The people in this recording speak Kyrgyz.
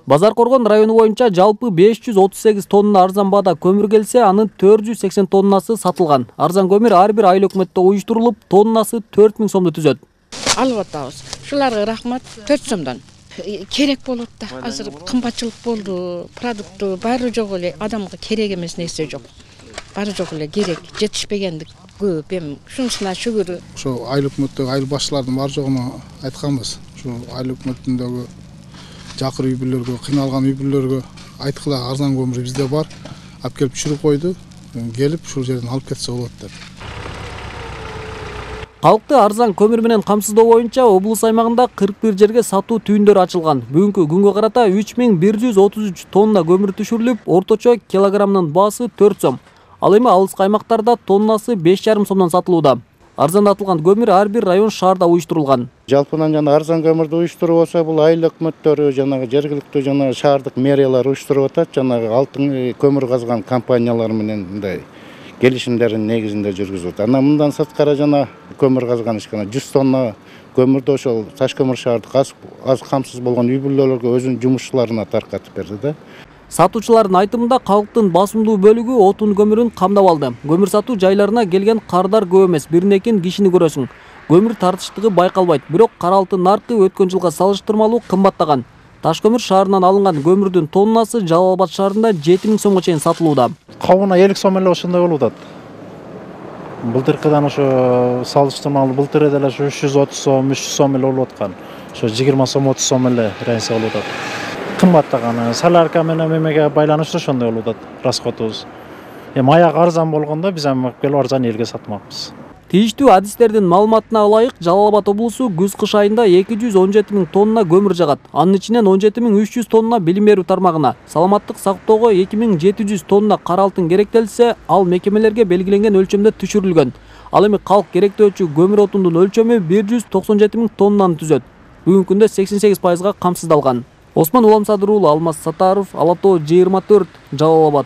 Базар Коргон району боюнча жалпы 538 тонна арзан баада көмүр келсе, анын 480 тоннасы сатылган. Арзан көмүр ар бир айыл өкмөттө уюштурулуп, тоннасы 4000 сомду түзөт. Алып атабыз. Шуларга рахмат. 4 сомдон. Керек болот да. Азыр кымбатчылык болду. Продукты баары жок эле, адамга керек эмес нерсе жок. Баары жок эле керек, жетишпегендик көп. Эми ушунусуна шүгүр. Ошо айыл өкмөттөгү айыл башчылардын бар жогуна айтканбыз. Ушу айыл өкмөтүндөгү жакыр үй бүлөлөргө, кыйналган үй бүлөлөргө айткыла арзан көмүр бизде бар. Алып келип түшүрүп койду. Келип ушул жерден алып кетсе болот деп. Калкты арзан көмүр менен камсыздоо боюнча облус аймагында 41 жерге сатуу түйүндөрү ачылган. Бүгүнкү күнгө карата 3133 тонна көмүр түшүрүлүп, орточо килограммынын баасы 4 сом. Ал эми алыскы аймактарда тоннасы 5,5 сомдон сатылууда. Арзандатылган көмүр ар бир район шаарда уюштурулган. Жалпынан жана арзан көмүрдү уюштуруп болсо, бул айыл өкмөттөрү, жанагы жергиликтүү жана шаардык мэриялар уюштуруп атат. Жанагы алтын көмүр казган компаниялар менен мындай келишимдердин негизинде жүргүзүп атат. Анан мындан сырткары жана көмүр казган ишкана 100 тонна көмүрдү ошол Таш көмүр шаардык аз камсыз болгон үй бүлөлөргө өзүнүн жумушчуларына таркатып берди да. Сатуучулардын айтымында калктын басымдуу бөлүгү отун көмүрүн камдап алды. Көмүр сатуу жайларына келген кардар көп эмес, биринекин кишини көрөсүң. Көмүр тартыштыгы байкалбайт, бирок кара алтын наркы өткөн жылга салыштырмалуу кымбаттаган. Таш көмүр шаарынан алынган көмүрдүн тоннасы Жалал Абад шаарында 7000 сомго чейин сатылууда. Кабына 50 сом эле ошондой болуп атат. Былтыркыдан ошо салыштырмалуу былтыр деле 330 сом, 300 сом эле болуп аткан. Ошо 20 сом, 30 сом эле разница болуп атат. Кымбаттаган солярка менен мемеге байланыштуу ошондой болуп атат расходубуз. Эми аяк арзан болгондо биз эми келип арзан элге сатмакпыз. Тийиштүү адистердин маалыматына ылайык, Жалал Абад облусу күз-кыш айында 217 000 тонна көмүр жагат. Анын ичинен 17 300 тонна билим берүү тармагына, саламаттык сактоого 2700 тонна кара алтын керектелсе, ал мекемелерге белгиленген өлчөмдө түшүрүлгөн. Ал эми калк керектөөчү көмүр отундун өлчөмү 197 000 тоннаны түзөт. Бүгүнкү күндө 88%га камсыздалган. Осман Уламсадыр уулу, Алмаз Сатаров, Ала Тоо 24, Жалал Абад.